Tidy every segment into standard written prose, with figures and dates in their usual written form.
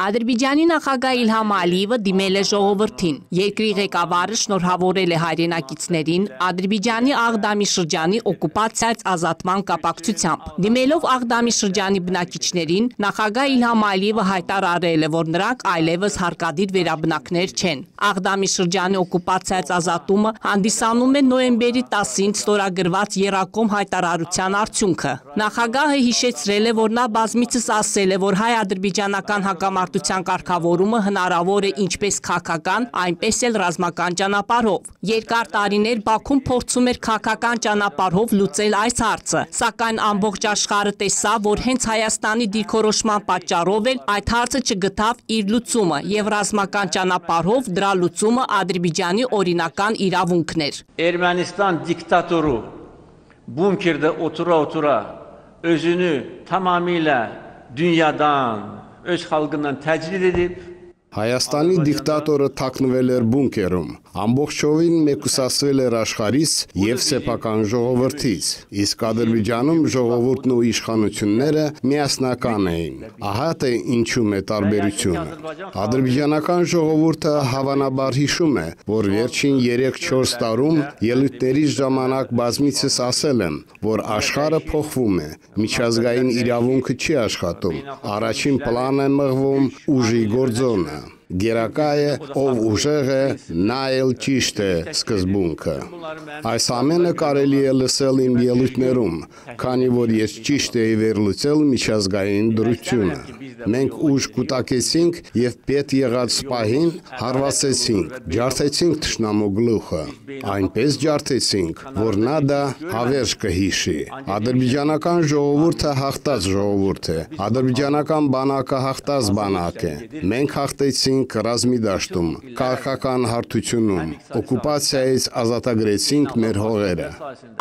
Ադրբեջանի նախագահ Իլհամ Ալիևը դիմել է ժողովրդին։ Երկրի ղեկավարը շնորհավորել է հայրենակիցներին Ադրբեջանի Աղդամի շրջանի օկուպացիայից ազատման կապակցությամբ։ Դիմելով Աղդամի շրջանի բնակիչներին, նախագահ Իլհամ Ալիևը հայտարարել է, որ նրանք այլևս հարկադիր վերաբնակներ չեն։ Աղդամի շրջանի օկուպացիայից ազատումը հանդիսանում է նոյեմբերի 10-ին ստորագրված եռակողմ հայտարարության արդյունքը։ Նախագահը հիշեցրել է, որ նա բազմիցս ասել է, որ հայ-ադրբեջանական հակամարտության կարգավորումը հնարավոր է ինչպես քաղաքական, այնպես էլ ռազմական ճանապարհով։ Երկար տարիներ Բաքուն փորձում էր քաղաքական ճանապարհով լուծել այս հարցը, սակայն ամբողջ աշխարհը տեսավ, որ հենց Հայաստանի դիրքորոշման պատճառով էլ այդ հարցը չգտավ իր լուծումը, եւ ռազմական ճանապարհով դրա լուծումը Ադրբեջանի օրինական իրավունքն էր։ Ermənistan diktatoru bunkerde otura özünü tamamıyla dünyadan, öz xalqından təcrid edib Հայաստանի դիկտատորը թաքնվել էր բունկերում, ամբողջովին մեկուսացվել էր աշխարհից եւ սեփական ժողովրդից, իսկ Ադրբեջանում ժողովուրդն ու իշխանությունները միասնական էին։ Ահա թե ինչու է տարբերությունը։ Ադրբեջանական ժողովուրդը հավանաբար հիշում է, որ վերջին 3-4 տարում ելույթների ժամանակ բազմիցս ասել եմ, որ աշխարհը փոխվում է, միջազգային իրավունքը չի աշխատում, առաջին պլան է մղվում ուժի գործոնը։ Գերակա է, ով ուժեղ է, նա էլ ճիշտ է սկզբունքը։ Այս ամենը կարելի է լսել իմ ելույթներում, քանի որ ես ճիշտ էի վերլուծել միջազգային դրությունը։ Մենք ուժ կուտակեցինք եւ պետ եղած պահին հարվածեցինք, ջարդեցինք թշնամու գլուխը։ Այնպես ջարդեցինք, որ նա դա հավերժ կհիշի։ Ադրբեջանական ժողովուրդը հաղթած ժողովուրդ է, ադրբեջանական բանակը հաղթած բանակ է։ Մենք հաղթեցինք ռազմի դաշտում, քաղաքական հարթությունում, օկուպացիայից ազատագրեցինք մեր հողերը։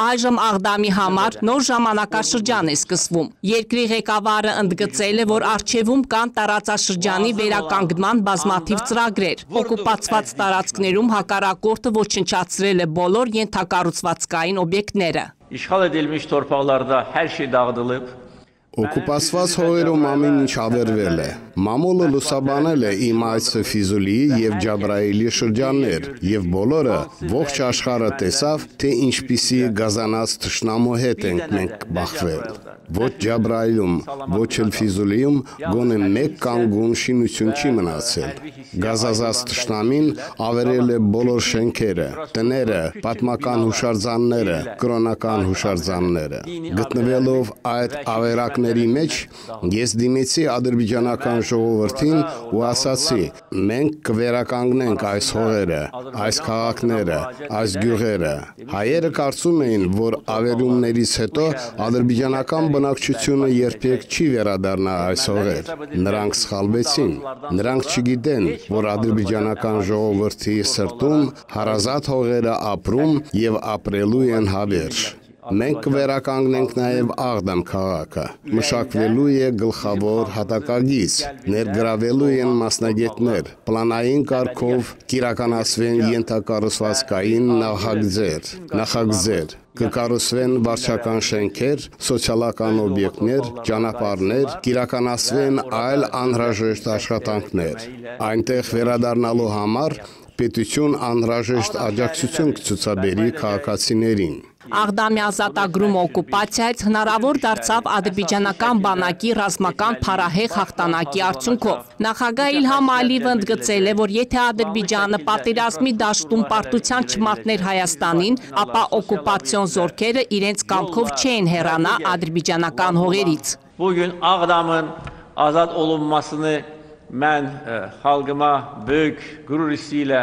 Այժմ Աղդամի համար նոր ժամանակաշրջան է սկսվում։ Երկրի ղեկավարը ընդգծել է, որ առջևում կան տարածաշրջանի վերականգնման բազմաթիվ ծրագրեր։ Օկուպացված տարածքներում հակառակորդը ոչնչացրել է բոլոր ենթակառուցվածքային օբյեկտները։ İşğal edilmiş torpaqlarda hər şey dağıdılıb. Օկուպացված հողերում ամեն ինչ ավերվել է։ Մամուլը լուսաբանել է իմ այցը Ֆիզուլիի եւ Ջաբրայիլի շրջաններ, եւ բոլորը ողջ աշխարհը տեսավ, թե ինչպիսի գազանած թշնամու հետ ենք մենք բախվել։ Ոչ Ջաբրայիլում, ոչ էլ Ֆիզուլիում գոնե մեկ կանգուն շինություն չի մնացել։ Գազազած թշնամին ավերել է բոլոր շենքերը, տները, պատմական հուշարձանները, կրոնական հուշարձանները։ Գտնվելով այդ ավերակների մեջ ես դիմեցի ադրբեջանական ժողովրդին ու ասացի. մենք կվերականգնենք այս հողերը, այս քաղաքները, այս գյուղերը։ Հայերը կարծում էին, որ ավերումներից հետո ադրբեջանական բնակչությունը երբեք չի վերադառնա այս հողեր։ Նրանք սխալվեցին։ Նրանք չգիտեն, որ ադրբեջանական ժողովրդի սրտում հարազատ հողերը ապրում եւ ապրելու են հավերժ։ Մենք կվերականգնենք նաև Աղդամ քաղաքը, մշակվելու է գլխավոր հատակագիծ, ներգրավելու են մասնագետներ, պլանային կարգով կիրականացվեն ենթակառուցվածքային նախագծեր, կկառուցվեն վարչական շենքեր, սոցիալական օբյեկտներ, ճանապարհներ, կիրականացվեն այլ անհրաժեշտ աշխատանքներ։ Այնտեղ վերադառնալու համար պետություն անհրաժեշտ աջակցություն կցուցաբերի քաղաքացիներին։ Աղդամի ազատագրումը օկուպացիայից հնարավոր դարձավ ադրբեջանական բանակի ռազմական փառահեղ հաղթանակի արդյունքով։ Նախագահ Իլհամ Ալիևը ընդգծել է, որ եթե Ադրբեջանը պատերազմի դաշտում պարտության չմատներ Հայաստանին, ապա օկուպացիոն զորքերը իրենց կամքով չեն հեռանա ադրբեջանական հողերից։ Bugün Ağdam'ın azad olunmasını mən xalqıma böyük qürur hissi ilə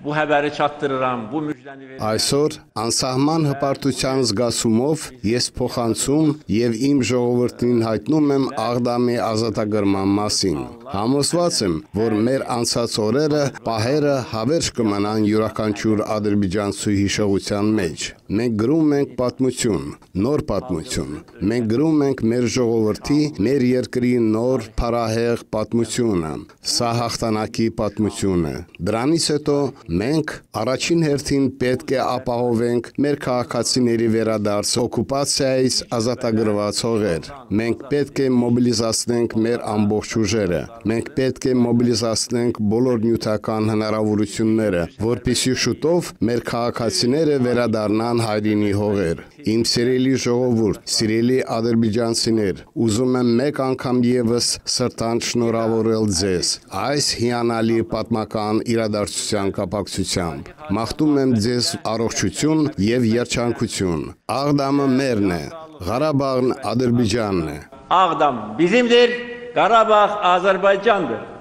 bu həbəri çatdırıram, bu müjdəni verirəm. Այսօր անսահման հպարտության զգացումով ես փոխանցում եւ իմ ժողովրդին հայտնում եմ Աղդամի ազատագրման մասին։ Համոզված եմ, որ մեր անցած օրերը, պահերը հավերժ կմնան յուրաքանչյուր ադրբեջանցու հիշողության մեջ։ Մենք գրում ենք պատմություն, նոր պատմություն։ Մենք գրում ենք մեր ժողովրդի, մեր երկրի նոր փառահեղ պատմությունը, սա հաղթանակի պատմությունը։ Դրանից հետո մենք առաջին հերթին պետք է ապահովենք մեր քաղաքացիների վերադարձ օկուպացիայից ազատագրված հողեր։ Մենք պետք է մոբիլիզացնենք մեր ամբողջ ուժերը։ Մենք պետք է մոբիլիզացնենք բոլոր նյութական հնարավորությունները, որպեսզի շուտով մեր քաղաքացիները վերադառնան հայրենի հողեր։ Իմ սիրելի ժողովուրդ, սիրելի ադրբեջանցիներ, ուզում եմ մեկ անգամ ևս սրտանց շնորհավորել ձեզ այս հիանալի պատմական իրադարձության կապակցությամբ։ Մաղթում եմ ձեզ առողջություն եւ երջանկություն։ Աղդամը մերն է, Ղարաբաղն Ադրբեջանն է։ Ağdam bizimdir, Qarabağ Azərbaycandır.